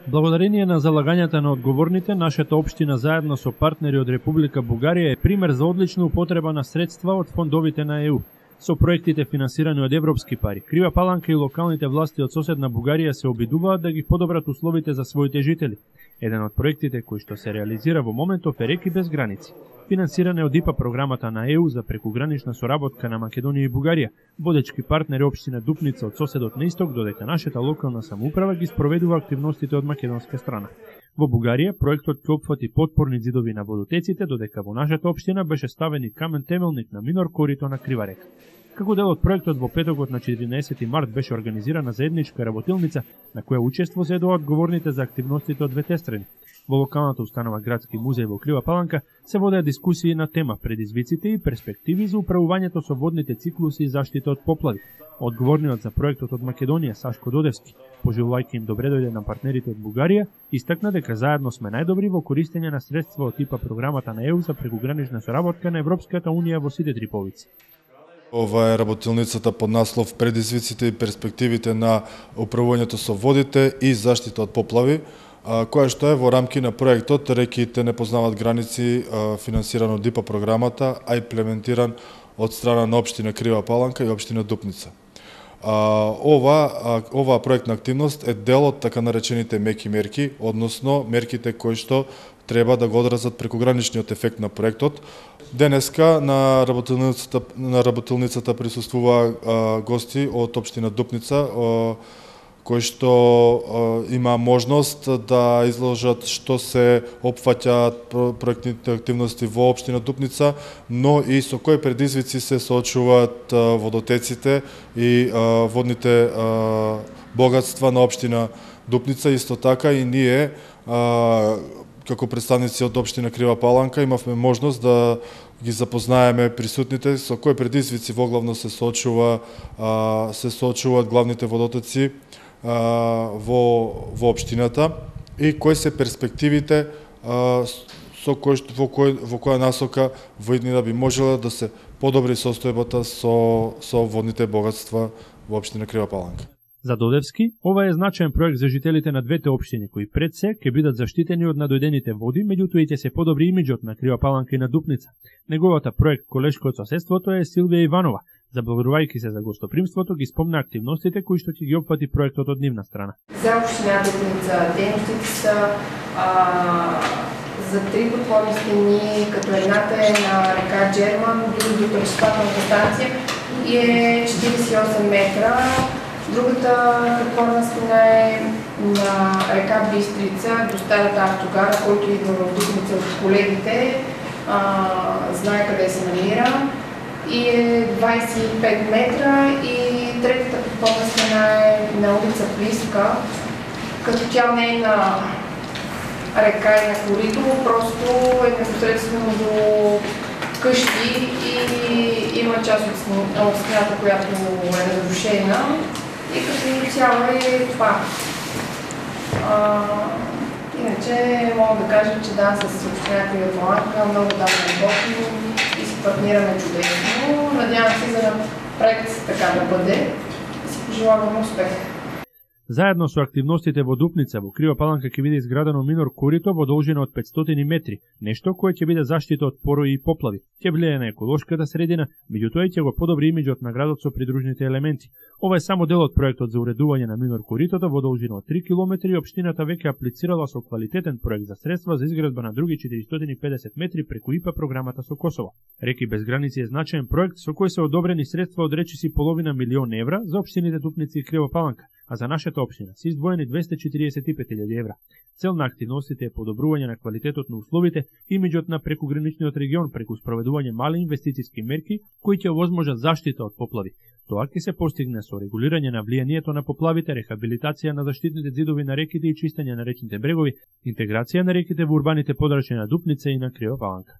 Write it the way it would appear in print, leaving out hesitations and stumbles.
Благодарение на залагањата на одговорните, нашата општина заедно со партнери од Република Бугарија е пример за одлична употреба на средства од фондовите на ЕУ. Со проектите финансирани од европски пари, Крива Паланка и локалните власти од соседна Бугарија се обидуваат да ги подобрат условите за своите жители. Еден од проектите кој што се реализира во моментов е Реки без граници. Финансиране од ИПА програмата на ЕУ за прекугранична соработка на Македонија и Бугарија, водечки партнери општина Дупница од соседот на исток, додека нашата локална самоуправа ги спроведува активностите од македонска страна. Во Бугарија проектот ќе опфати потпорни ѕидови на водотеците, додека во нашата општина беше ставен и камен темелник на минор корито на Крива река. Како дел од проектот во петокот на 14 март беше организирана заедничка работилница на која учество зедоа одговорните за активностите од двете страни. Во локалната установа Градски музеј во Крива Паланка се водеа дискусии на тема предизвиците и перспективи за управувањето со водните циклуси и заштита од поплави. Одговорниот за проектот од Македонија Сашко Додевски, пожелувајќи им добре дојде на партнерите од Бугарија, истакна дека заедно сме најдобри во користење на средства од типа програмата на ЕУ за прекугранична соработка на Европската унија во сите три повици. Ова е работилницата под наслов Предизвиците и перспективите на управувањето со водите и заштита од поплави, која што е во рамки на проектот Реките не познават граници, финансиран од ИПА програмата, а имплементиран од страна на општина Крива Паланка и општина Дупница. Ова проектна активност е дел од така наречените меки мерки, односно мерките кои што треба да го одразат прекуграничниот ефект на проектот. Денеска на работилницата присуствува гости од општина Дупница, кои што има можност да изложат што се опфаќаат проектните активности во општина Дупница, но и со кои предизвици се соочуваат водотеците и водните богатства на општина Дупница. Исто така и ние, како представници од општина Крива Паланка, имавме можност да ги запознаеме присутните со кои предизвици воглавно се соочуваат главните водотоци во општината и кои се перспективите во која насока во иднина би можела да се подобри состојбата со водните богатства во општина Крива Паланка. За Додевски, ова е значаен проект за жителите на двете општини, кои пред се ќе бидат заштитени од надојдените води, меѓутоа и ќе се подобри имиџот на Крива Паланка и на Дупница. Неговата проект колешко од соседството е Силвија Иванова. Заблагодарувајќи се за гостопримството, ги спомна активностите кои што ќе ги опфати проектот од нивна страна. За општина Дупница дейностите се за три подводни стени, като едната е на река Джерман, другата пречиствателната станция и е 48 метра. Другата подводна стена е на река Бистрица, до старата автогара, който идва в Дупница от колегите, знае къде се намира. И е 25 метра и третата подводна стена е на улица Плиска, като тя не е на река и на корито, просто е непосредствено до къщи и има част от стената, която е разрушена и като цяло е това. Иначе мога да кажа, че да, с община Крива Паланка много работим и си партнираме чудесно. Надявам се за напред така да бъде и си пожелавам успех. Заедно со активностите во Дупница, во Крива Паланка ќе биде изградено минор корито во должина од 500 метри, нешто кое ќе биде заштита од порои и поплави, ќе влијае на еколошката средина, меѓутоа и ќе го подобри имиџот на градот со придружните елементи. Ова е само дел од проектот за уредување на минор коритото во должина од 3 км и општината веќе аплицирала со квалитетен проект за средства за изградба на други 450 метри преку ИПА програмата со Косово. Реки без граници е значаен проект со кој се одобрени средства од речиси половина милион евра за општините Дупница и Крива Паланка, а за нашата општина се издвоени 245.000 евра. Цел на активностите е подобрување на квалитетот на условите, имиџот на прекуграничниот регион преку спроведување мали инвестициски мерки кои ќе овозможат заштита од поплави. Тоа ќе се постигне со регулирање на влијанието на поплавите, рехабилитација на заштитните ѕидови на реките и чистење на речните брегови, интеграција на реките во урбаните подрачја на Дупница и на Крива Паланка.